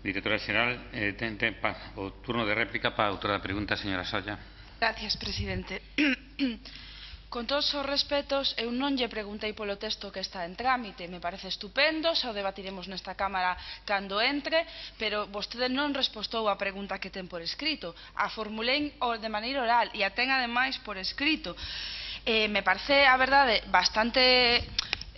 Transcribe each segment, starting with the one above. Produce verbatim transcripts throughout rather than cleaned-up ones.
Directora xeral, eh, ten, ten pa, o turno de réplica para a autora da pregunta, señora Solla. Gracias, presidente. Con todos os respetos, eu non lle preguntei polo texto que está en trámite, me parece estupendo, xa o debatiremos nesta Cámara cando entre, pero vostede non respostou a pregunta que ten por escrito. A formulei de maneira oral e a ten ademais por escrito. Eh, me parece, a verdade, bastante...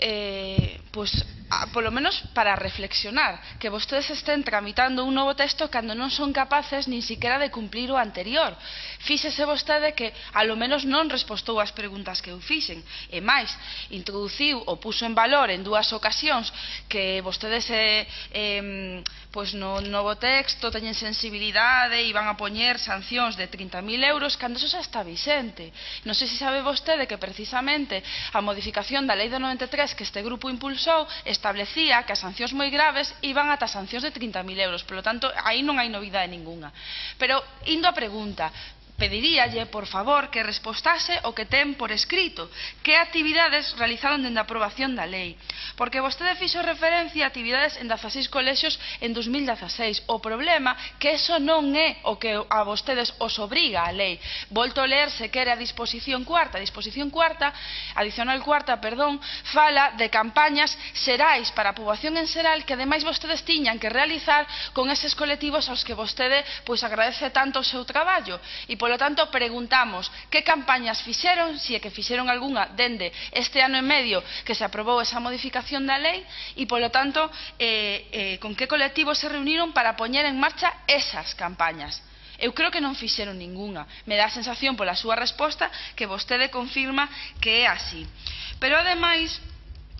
Eh, pues, a, polo menos para reflexionar, que vostedes estén tramitando un novo texto cando non son capaces nin siquiera de cumplir o anterior. Fíxese vostede que a lo menos non respostou as preguntas que eu fixen, e máis, introduciu ou puso en valor en dúas ocasións que vostedes eh, eh, pues no novo texto teñen sensibilidade e van a poñer sancións de trinta mil euros cando eso xa está vixente. Non sei se sabe vostede que precisamente a modificación da lei do noventa e tres que este grupo impulsou establecía que as sancións moi graves iban ata sancións de trinta mil euros, polo tanto, aí non hai novidade ningunha. Pero, indo á pregunta, pediríalle, por favor, que respostase o que ten por escrito, que actividades realizaron dende a aprobación da lei. Porque vostede fixo referencia a actividades en dezaseis colexios en dos mil dezaseis. O problema que eso non é o que a vostedes os obriga a lei. Volto a ler se quere a disposición cuarta. A disposición cuarta, adicional cuarta, perdón, fala de campañas xerais para a poboación en xeral que ademais vostedes tiñan que realizar con eses colectivos aos que vostede pois agradece tanto o seu traballo. E por Polo tanto, preguntamos que campañas fixeron, se é que fixeron algunha dende este ano e medio que se aprobou esa modificación da lei e, polo tanto, eh, eh, con que colectivos se reuniron para poñer en marcha esas campañas. Eu creo que non fixeron ningunha. Me dá a sensación pola súa resposta que vostede confirma que é así. Pero, ademais,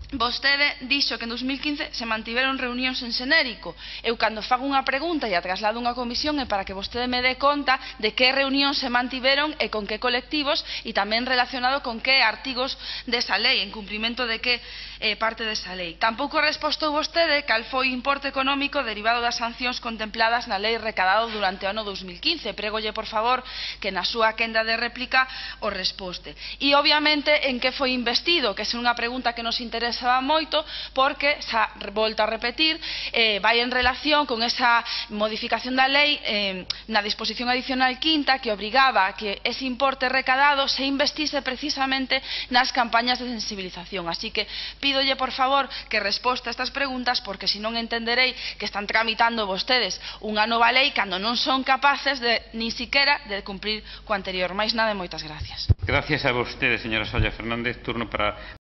vostede dixo que en dos mil quince se mantiveron reunións en xenérico. Eu cando fago unha pregunta e a traslado unha comisión é para que vostede me dé conta de que reunións se mantiveron e con que colectivos e tamén relacionado con que artigos desa lei, en cumprimento de que eh, parte desa lei. Tampouco respostou vostede cal foi o importe económico derivado das sancións contempladas na lei recadado durante o ano dos mil quince. Prégolle, por favor, que na súa quenda de réplica o resposte. E, obviamente, en que foi investido, que é unha pregunta que nos interesa moito porque, xa volto a repetir, eh, vai en relación con esa modificación da lei eh, na disposición adicional quinta que obrigaba a que ese importe recadado se investise precisamente nas campañas de sensibilización. Así que pídolle, por favor, que resposta a estas preguntas porque senón entenderei que están tramitando vostedes unha nova lei cando non son capaces de, nin siquiera de cumprir co anterior. Máis nada e moitas gracias. Gracias a vostede, señora Solla Fernández. Turno para